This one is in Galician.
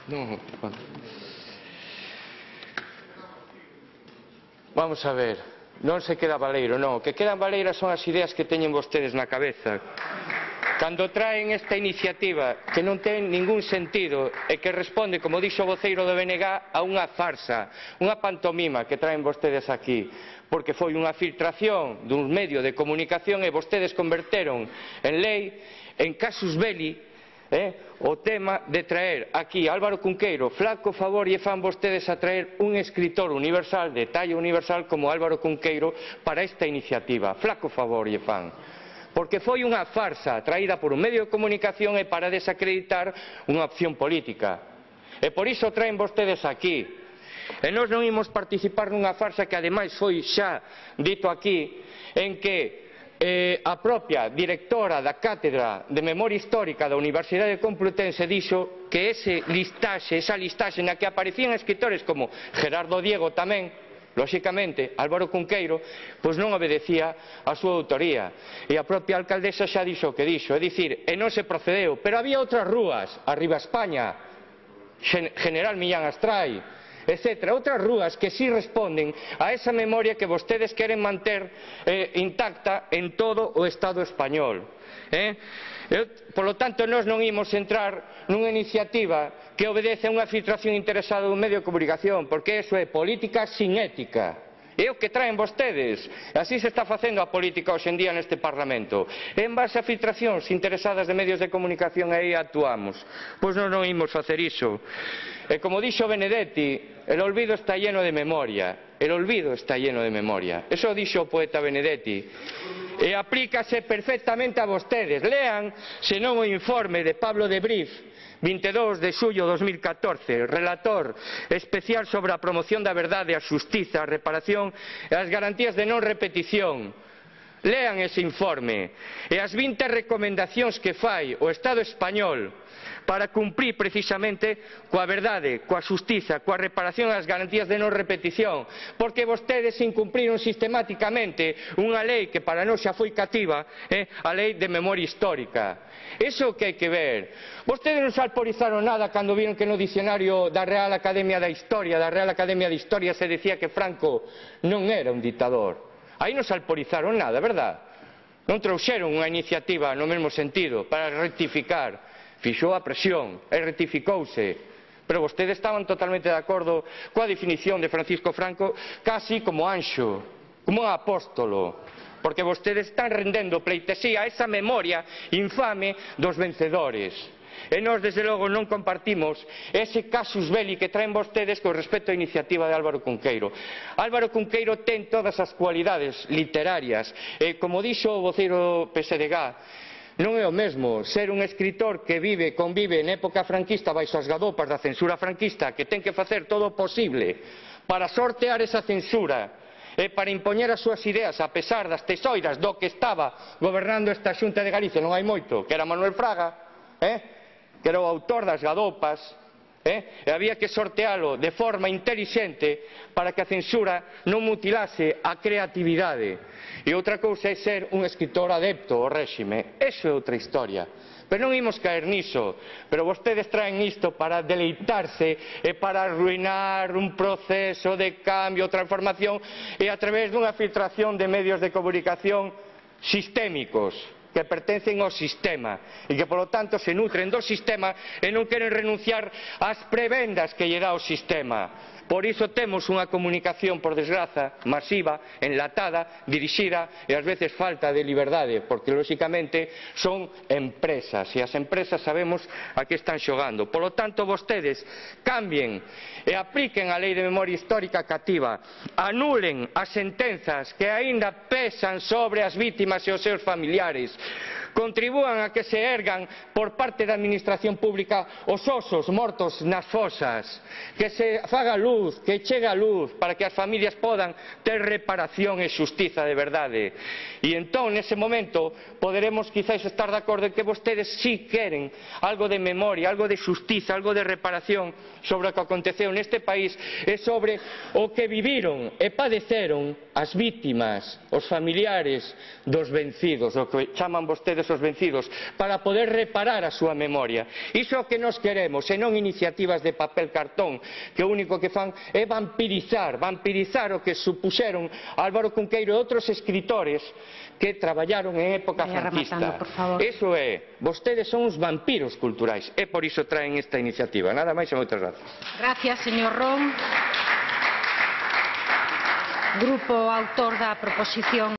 No, vamos a ver, non se queda baleiro, non, o que quedan baleiras son as ideas que teñen vostedes na cabeza. Cando traen esta iniciativa que non ten ningún sentido e que responde, como dixo o voceiro do BNG, a unha farsa, unha pantomima que traen vostedes aquí, porque foi unha filtración dun medio de comunicación e vostedes converteron en lei, en casus belli, o tema de traer aquí Álvaro Cunqueiro. Flaco favor lle fan vostedes a traer un escritor universal, de talla universal, como Álvaro Cunqueiro para esta iniciativa. Flaco favor lle fan. Porque foi unha farsa traída por un medio de comunicación e para desacreditar unha opción política. E por iso traen vostedes aquí. E nós non imos participar nunha farsa que ademais foi xa dito aquí, en que a propia directora da Cátedra de Memoria Histórica da Universidade Complutense dixo que esa listaxe na que aparecían escritores como Gerardo Diego tamén, lóxicamente, Álvaro Cunqueiro, pois non obedecía a súa autoría. E a propia alcaldesa xa dixo o que dixo, é dicir, e non se procedeu. Pero había outras rúas, Arriba España, General Millán Astrai, etc. Outras rúas que sí responden a esa memoria que vostedes queren manter intacta en todo o Estado español. Polo tanto, nós non imos entrar nunha iniciativa que obedece a unha filtración interesada dun medio de comunicación, porque iso é política sin ética. É o que traen vostedes. Así se está facendo a política hoxe en día neste Parlamento. En base a filtracións interesadas de medios de comunicación, aí actuamos. Pois non imos facer iso. E como dixo Benedetti, el olvido está lleno de memoria. El olvido está lleno de memoria. Eso dixo o poeta Benedetti. E aplícase perfectamente a vostedes. Lean, senón o informe de Pablo de Brief, 22 de xullo de 2014, relator especial sobre a promoción da verdade, a xustiza, a reparación e as garantías de non repetición. Lean ese informe e as 20 recomendacións que fai o Estado español para cumprir precisamente coa verdade, coa xustiza, coa reparación e as garantías de non repetición, porque vostedes incumpriron sistemáticamente unha lei que para nós xa foi cativa, a lei de memoria histórica. Iso que hai que ver. Vostedes non se alporizaron nada cando viron que no dicionario da Real Academia da Historia, se decía que Franco non era un dictador. Aí non se alporizaron nada, verdad? Non trouxeron unha iniciativa no mesmo sentido para rectificar. Fixou a presión e rectificouse. Pero vostedes estaban totalmente de acordo coa definición de Francisco Franco, casi como anxo, como un apóstolo. Porque vostedes están rendendo pleitesía a esa memoria infame dos vencedores. E nós, desde logo, non compartimos ese casus belli que traen vostedes con respecto á iniciativa de Álvaro Cunqueiro. Álvaro Cunqueiro ten todas as cualidades literarias. E, como dixo o voceiro PSDG, non é o mesmo ser un escritor que convive en época franquista baixo as gadopas da censura franquista, que ten que facer todo o posible para sortear esa censura e para impoñer as súas ideas a pesar das tesoiras do que estaba gobernando esta Xunta de Galicia non hai moito, que era Manuel Fraga, que era o autor das gadopas, e había que sortealo de forma intelixente para que a censura non mutilase a creatividade. E outra cousa é ser un escritor adepto ao réxime. Eso é outra historia. Pero non imos caer niso. Pero vostedes traen isto para deleitarse e para arruinar un proceso de cambio, transformación, e a través dunha filtración de medios de comunicación sistémicos, que pertencen ao sistema e que, polo tanto, se nutren do sistema e non queren renunciar ás prebendas que lle dá o sistema. Por iso temos unha comunicación, por desgraza, masiva, enlatada, dirixida e ás veces falta de liberdade, porque, lóxicamente, son empresas e as empresas sabemos a que están xogando. Polo tanto, vostedes cambien e apliquen a Lei de Memoria Histórica cativa, anulen as sentenzas que aínda pesan sobre as vítimas e os seus familiares, contribúan a que se ergan por parte da administración pública os osos mortos nas fosas, que se faga luz, que chegue a luz para que as familias podan ter reparación e xustiza de verdade. E entón, nese momento, poderemos quizáis estar de acordo en que vostedes sí queren algo de memoria, algo de xustiza, algo de reparación sobre o que aconteceu neste país e sobre o que viviron e padeceron as vítimas, os familiares dos vencidos, o que chaman vostedes os vencidos, para poder reparar a súa memoria. Iso é o que nós queremos, e non iniciativas de papel cartón, que o único que fan é vampirizar o que supuxeron Álvaro Cunqueiro e outros escritores que traballaron en época franquista. Iso é, vostedes son uns vampiros culturais, e por iso traen esta iniciativa. Nada máis e moitas gracias. Gracias, señor Ron. Grupo autor da proposición.